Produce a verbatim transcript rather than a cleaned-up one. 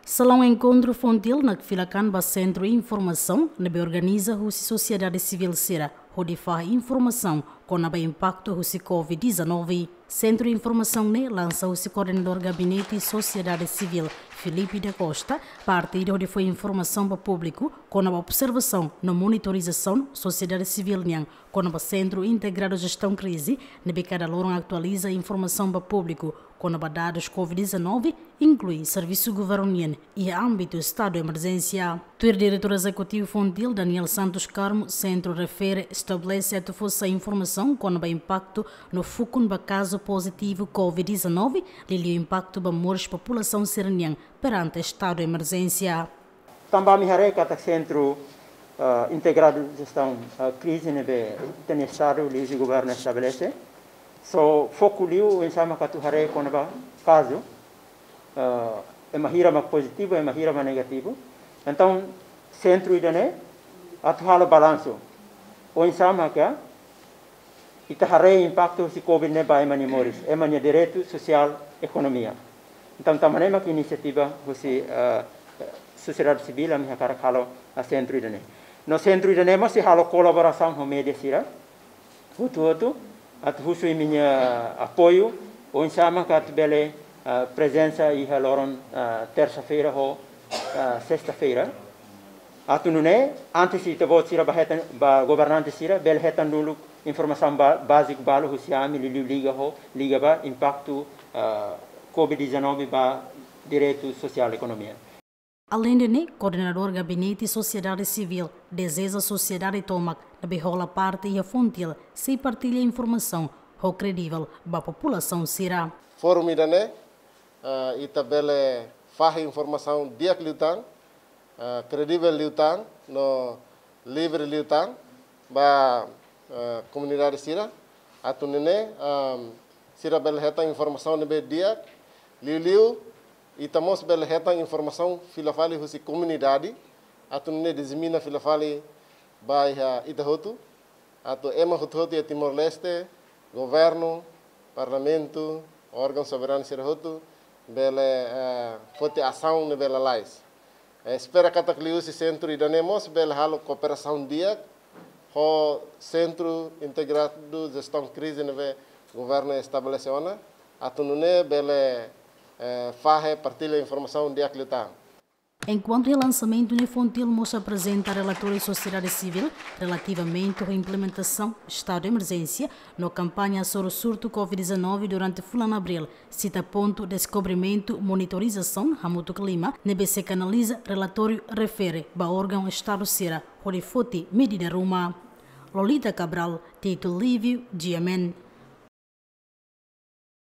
Salaun enkontru FONGTIL nakfilak an ba sentru informasaun ne'ebé organiza husi sosiedade sivíl sira hodi fahe informasaun kona-ba impaktu husi COVID-19. Sentru informasaun ne'e lansa husi koordenadór gabinete sosiedade sivíl, Filipe da Costa, parte ida hodi fó informasaun ba públiku kona-ba observasaun no monitorizasaun sosiedade sivíl nian kona-ba Sentru Integradu Jestaun Krize, ne'ebé kada loron atualiza informasaun ba públiku kona-ba dadus COVID-19, inklui servisu governu nian iha ámbitu estadu emerjénsia. Tuir diretór ezekutivu FONGTIL, Daniel Santos Carmo, sentru refere estabelese atu fó sai informasaun kona-ba impaktu no fukun ba kazu pozitivu COVID-19, liuliu impaktu ba moris populasaun sira-nian perante estadu emerjénsia. Tanba ami haree katak Sentru, ah, Integradu Jestaun, ah, Krize ne'ebé ita-nia estadu liuhusi governu estabelese. So, foku liu oinsá mak atu haree kona-ba kazu, ah, ema hira mak pozitivu, ema hira mak negativu. Entaun, sentru ida-ne'e atu halo balansu. Oinsá mak ita haree impaktu husi COVID ne'e ba ema nia moris, ema nia direitu sosiál, ekonomia. Entaun, tanba ne'e mak inisiativa husi, eh, sosiedade sivíl ami hakarak halo sentru ida-ne'e. No sentru ida-ne'e mós sei halo kolaborasaun ho média sira hotu-hotu, atu husu imi-nia apoiu, oinsá mak atu bele, eh, prezensa iha loron, eh, tersa-feira ho, eh, sesta-feira. Atu nune'e, antes ita-boot sira bá hetan, ba governante sira, bele hetan dulu informasaun ba-, báziku balu husi ami, liuliu liga ho, liga ba impaktu, ah, COVID-19 ba direitu sosiál ekonomia. Aleinde ne'e, koordenadór gabinete sosiedade sivíl dezeja sosiedade tomak ne'ebé hola parte iha FONGTIL sei partilla informasaun ho kredivel ba populasaun sira. Fórum ida-ne'e, ah, ita bele fahe informasaun di'ak liután, ah, kredivel liután, no livre liután ba, ah, komunidade sira. Atu nune'e, ah, sira bele hetan informasaun ne'ebé di'ak, liuliu ita mós bele hetan informasaun fila fali husi komunidade, atu nune'e disemina fila fali ba iha ita hotu, atu ema hotu-hotu iha Timor-Leste, governu, parlamentu, órgaun soberanu sira hotu, bele, eh, foti asaun ne'ebé lalais. Eh, espera katak liuhusi sentru ida-ne'e mós bele halo kooperasaun di'ak ho Sentru Integradu Jestaun Krize ne'ebé governu estabelese ona, atu nune'e bele, eh, fahe partilla informasaun di'ak liután. Enkuantu iha lansamentu ne'e, FONGTIL mós aprezenta relatóriu sosiedade sivíl relativamente ho implementasaun estadu de emerjénsia no kampaña hasoru surtu COVID-19 durante fulan abríl, sita pontu deskobrimentu, monitorizasaun hamutuk lima, ne'ebé sei kanaliza relatóriu refere ba órgaun estadu sira hodi foti medida ruma. Lolita Cabral, Tito Lívio, G M N.